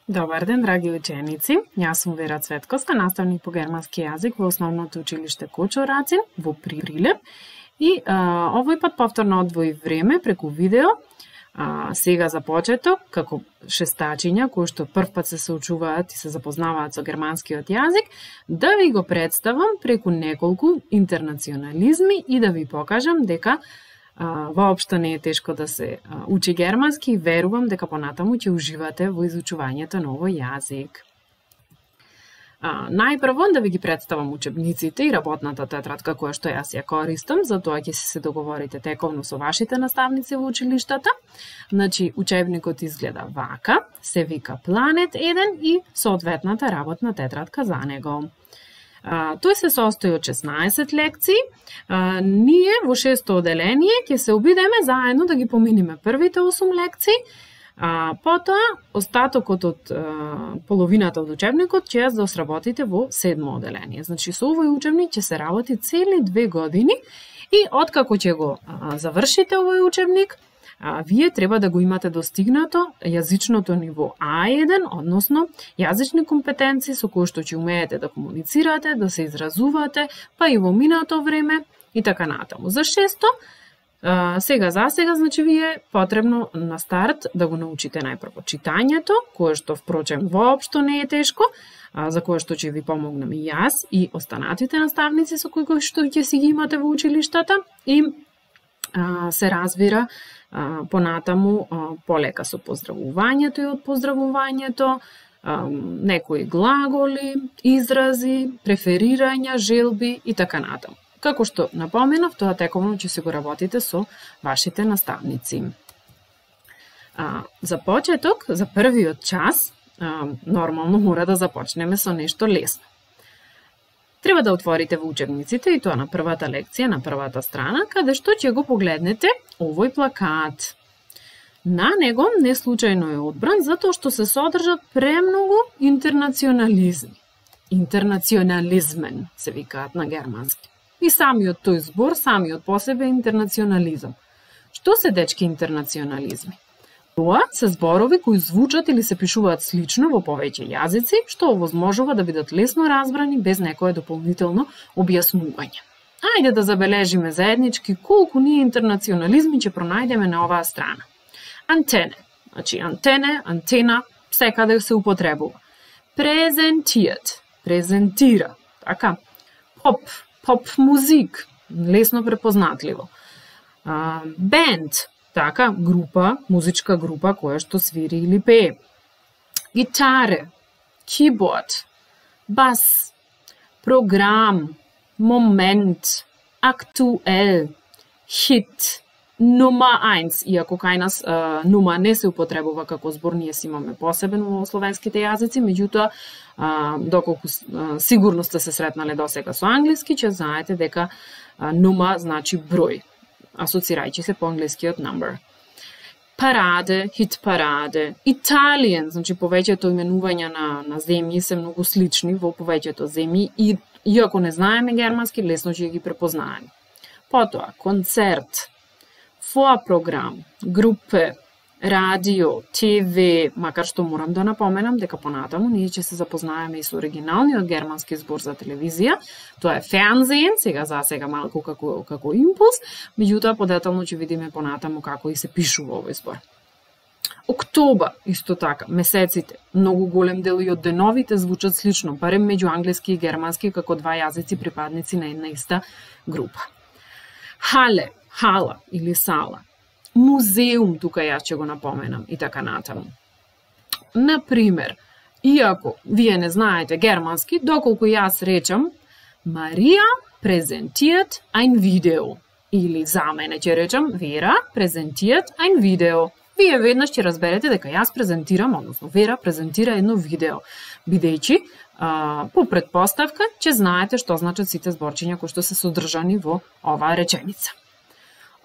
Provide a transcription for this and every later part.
Добар ден, драги ученици. Јас сум Вера Цветковска, наставник по германски јазик во Основното училиште Кочо Рацин во Прилеп. И овој пат повторно одвоив време преку видео. Сега за почеток, како шестачиња кои што првпат се соучуваат и се запознаваат со германскиот јазик, да ви го представам преку неколку интернационализми и да ви покажам дека воопшто не е тешко да се учи германски и верувам дека понатаму ќе уживате во изучувањето на овој јазик. Најпрво да ви ги представам учебниците и работната тетрадка која што јас ја користам, затоа ќе се договорите тековно со вашите наставници во училиштата. Значи, учебникот изгледа вака, се вика Планет 1 и соодветната работна тетрадка за него. Тој се состои од 16 лекции. Ние во 6-то оделение ќе се обидеме заедно да ги поминиме првите 8 лекции, потоа остатокот од половината од учебникот ќе ја сработите во 7-мо оделение. Значи со овој учебник ќе се работи цели 2 години и откако ќе го завршите овој учебник, вие треба да го имате достигнато јазичното ниво А1, односно јазични компетенции со кои што ќе умеете да комуницирате, да се изразувате, па и во минато време и така натаму. За 6-то, сега за сега, значи вие потребно на старт да го научите најпрво читањето, кое што впрочем воопшто не е тешко, за кое што ќе ви помогнам и јас и останатите наставници со кои што ќе си ги имате во училиштата и се разбира понатаму полека со поздравувањето и од поздравувањето, некои глаголи, изрази, преферирања, желби и така натаму. Како што напоменав, тоа тековно ќе се го работите со вашите наставници. За почеток, за првиот час, нормално мора да започнеме со нешто лесно. Треба да отворите во учебниците и тоа на првата лекција, на првата страна, каде што ќе го погледнете овој плакат. На него не случајно е одбран затоа што се содржат премногу интернационализми. Интернационализмен се викаат на германски. И самиот тој збор, самиот по себе интернационализам. Што се дечки интернационализми? Тоа се зборови кои звучат или се пишуваат слично во повеќе јазици, што овозможува да бидат лесно разбрани без некое дополнително објаснување. Ајде да забележиме заеднички колку ние интернационализми ќе пронајдеме на оваа страна. Антене, значи антене, антена, секаде се употребува. Презентијат, презентира, така. Поп музик, лесно препознатливо. Бенд, така, група, музичка група која што свири или пее. Гитаре, keyboard, бас, програм, момент, актуел, хит, нума 1, иако кај нас нума не се употребува како збор, ние си имаме посебен во словенските јазици, меѓутоа, доколку сигурно сте се сретнале досега со англиски, ќе знаете дека нума значи број, асоцирајќи се по англискиот number. Параде, хит параде, Италијан, значи повеќето именувања на земји се многу слични во повеќето земји и иако не знаеме германски, лесно ќе ги препознаеме. Потоа, концерт, фоа програм, групе, радио, ТВ, макар што морам да напоменам дека понатаму ние ќе се запознаеме и со оригиналниот германски збор за телевизија. Тоа е Fernsehen, сега за сега малку како импулс, меѓутоа подетално ќе видиме понатаму како и се пишува овој збор. Октобар, исто така, месеците, многу голем дел и од деновите звучат слично, барем меѓу англиски и германски како два јазици припадници на една иста група. Хале, хала или сала. Музеум, тука јас ќе го напоменам и така натаму. Например, иако вие не знаете германски, доколку јас речам Марија презентијат ein видео или за мене ќе речам Вера презентијат ein видео. Вие веднаш ќе разберете дека јас презентирам, односно Вера презентира едно видео, бидејќи по претпоставка ќе знаете што значат сите зборчиња кои што се содржани во оваа реченица.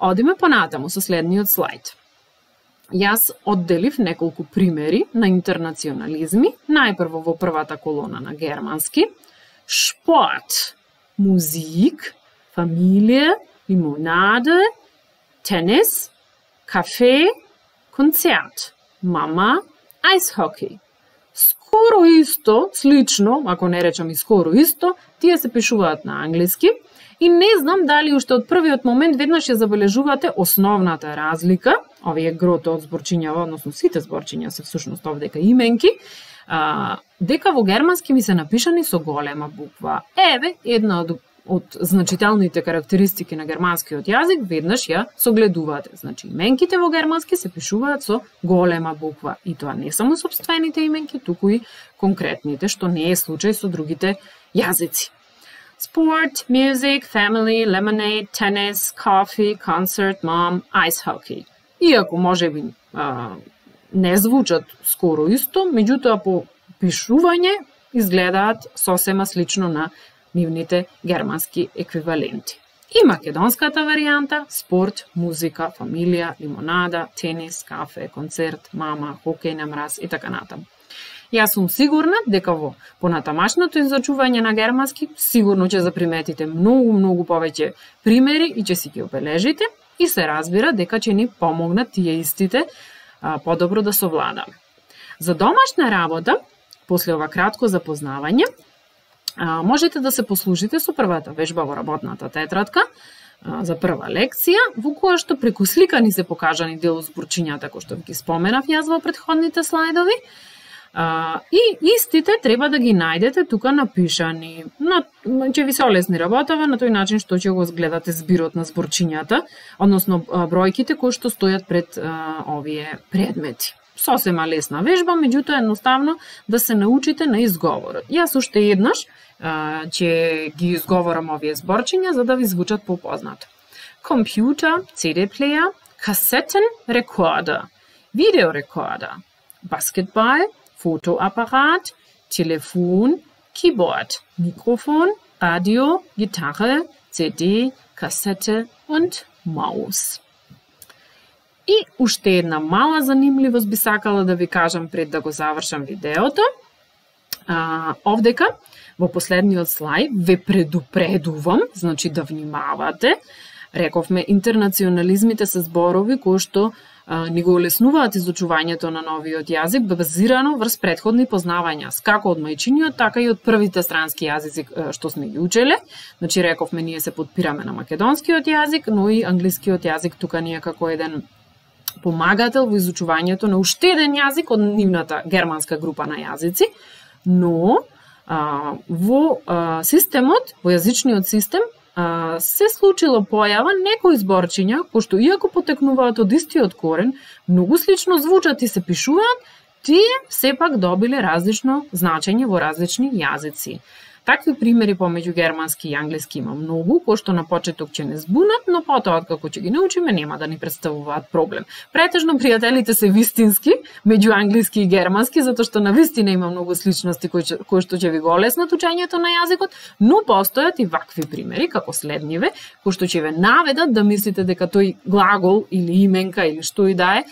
Одиме понатаму со следниот слайд. Јас одделив неколку примери на интернационализми, најпрво во првата колона на германски. Спорт, музик, фамилија, лимонаде, тенис, кафе, концерт, мама, Eishockey, скоро исто, слично, ако не речам и скоро исто, тие се пишуваат на англиски. И не знам дали уште од првиот момент веднаш ја забележувате основната разлика, овие грото од зборчињава, односно сите зборчиња се всушност овдека именки, дека во германски ми се напишани со голема буква. Еве, една од значителните карактеристики на германскиот јазик, веднаш ја согледувате. Значи, именките во германски се пишуваат со голема буква. И тоа не само сопствените именки, туку и конкретните, што не е случај со другите јазици. Sport, music, family, lemonade, tennis, coffee, concert, mom, ice hockey. Иако можеби не звучат скоро исто, меѓутоа по пишување изгледаат сосема слично на нивните германски еквиваленти. И македонската варијанта: спорт, музика, фамилија, лимонада, тенис, кафе, концерт, мама, хокеј на мраз и така натаму. Јас сум сигурна дека во понатамашното изучување на германски сигурно ќе заприметите многу повеќе примери и ќе си ги обележите и се разбира дека ќе ни помогнат тие истите подобро да совладаме. За домашна работа, после ова кратко запознавање, можете да се послужите со првата вежба во работната тетрадка за прва лекција, во која што преку слика ни се покажани дел од зборчињата кои што ги споменав јас во претходните слайдови. И истите треба да ги најдете тука напишани. Ќе ви се олесни работава на тој начин што ќе го гледате збирот на зборчињата, односно бројките кои што стојат пред овие предмети. Сосема лесна вежба, меѓутоа едноставно да се научите на изговорот. Јас уште еднаш ќе ги изговорам овие зборчиња за да ви звучат попознато. Компјутер, CD плеер, касетен рекордер, видеорекордер, баскетбал, Fotoapparat, Telefon, Keyboard, Mikrofon, Radio, Gitarre, CD, Kassette und Maus. И уште една мала занимливост би сакала да ви кажам пред да го завршам видеото. Овдека, во последниот слај, ве предупредувам, значи да внимавате. Рековме, интернационализмите се зборови кои што ни го олеснуваат изучувањето на новиот јазик базирано врз претходни познавања, како од мајчиниот, така и од првите странски јазици што сме ги учеле. Значи, рековме, ние се подпираме на македонскиот јазик, но и англискиот јазик тука ни е како еден помагател во изучувањето на уште еден јазик од нивната германска група на јазици, но во системот, во јазичниот систем, се случило појава некои зборчиња кои што иако потекнуваат од истиот корен, многу слично звучат и се пишуваат, тие сепак добиле различно значење во различни јазици. Такви примери помеѓу германски и англиски има многу, кои што на почеток ќе не збунат, но потоа откако ќе ги научиме нема да ни представуваат проблем. Претежно пријателите се вистински меѓу англиски и германски, затоа што на вистина има многу сличности кои што ќе ви го олеснат учењето на јазикот, но постојат и вакви примери како следниве, кои што ќе ве наведат да мислите дека тој глагол или именка или што и да е,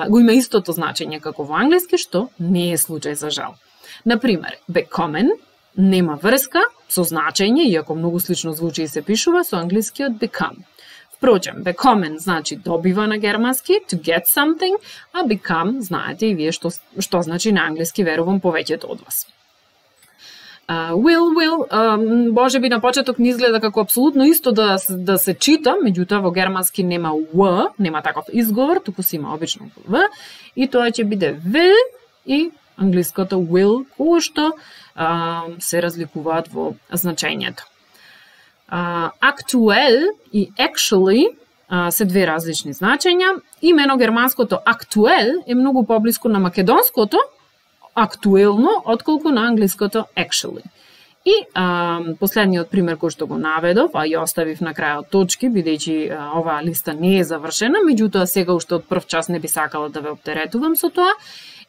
го има истото значење како во англиски, што не е случај за жал. Например, bekommen нема врска со значење, иако многу слично звучи и се пишува со англискиот become. Впрочем, bekommen значи добива на германски, to get something, а become знаете и вие што значи на англиски, верувам повеќето од вас. Will, може би на почеток не изгледа како апсолутно исто да се чита, меѓутоа во германски нема w, нема таков изговор, туку си има обично в, и тоа ќе биде will и англиското will, кои што се разликуваат во значењето. Actuel и actually се две различни значења. Имено германското actuel е многу поблиску на македонското актуелно, отколку на англиското actually. И последниот пример кој што го наведов, а ја оставив на крајот точки, бидејќи оваа листа не е завршена, меѓутоа сега уште од прв час не би сакала да ве оптеретувам со тоа,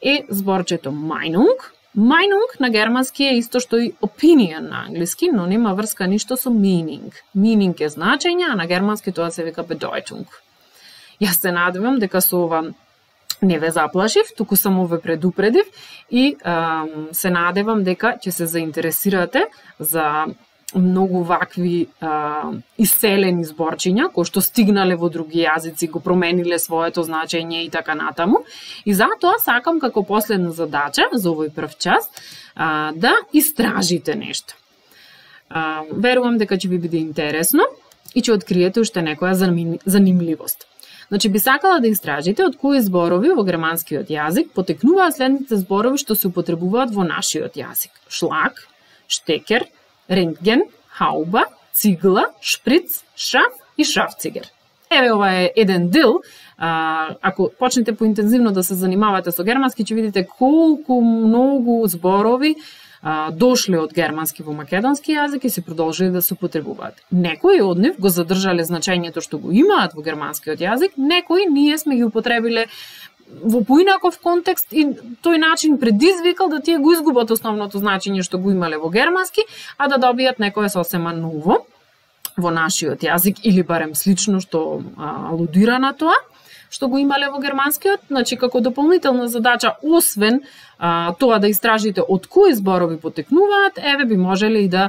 е зборчето Meinung. Meinung на германски е исто што и opinion на англиски, но нема врска ништо со meaning. Meaning е значење, а на германски тоа се вика Bedeutung. Јас се надевам дека со ова не ве заплашив, туку само ве предупредив и се надевам дека ќе се заинтересирате за многу вакви иселени зборчиња кои што стигнале во други јазици, го промениле своето значење и така натаму. И затоа сакам како последна задача за овој прв час да истражите нешто. Верувам дека ќе ви биде интересно и ќе откриете уште некоја занимливост. Значи, би сакала да истражите од кои зборови во германскиот јазик потекнуваат следните зборови што се употребуваат во нашиот јазик. Шлаг, штекер, рентген, хауба, цигла, шприц, шаф и шафцигер. Еве, ова е еден дел. Ако почнете поинтензивно да се занимавате со германски, ќе видите колку многу зборови дошле од германски во македонски јазик и се продолжили да се употребуваат. Некои од нив го задржале значењето што го имаат во германскиот јазик, некои ние сме ги употребиле во поинаков контекст и тој начин предизвикал да тие го изгубат основното значење што го имале во германски, а да добијат некое сосема ново во нашиот јазик или барем слично што алудира на тоа што го имале во германскиот. Значи, како дополнителна задача, освен тоа да истражите од кои зборови потекнуваат, еве би можеле и да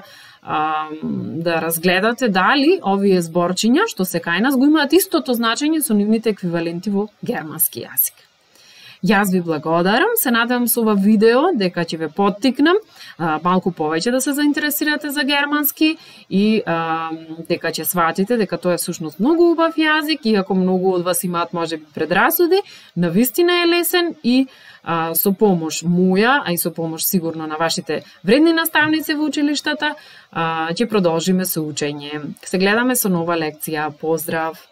разгледате дали овие зборчиња што се кај нас го имаат истото значење со нивните еквиваленти во германски јазик. Јас ви благодарам, се надевам со ова видео дека ќе ве поттикнам малку повеќе да се заинтересирате за германски и дека ќе сватите дека тоа е всушност многу убав јазик, иако многу од вас имаат можеби предрасуди, навистина е лесен и со помош моја, а и со помош сигурно на вашите вредни наставници во училиштата, ќе продолжиме со учење. Се гледаме со нова лекција. Поздрав!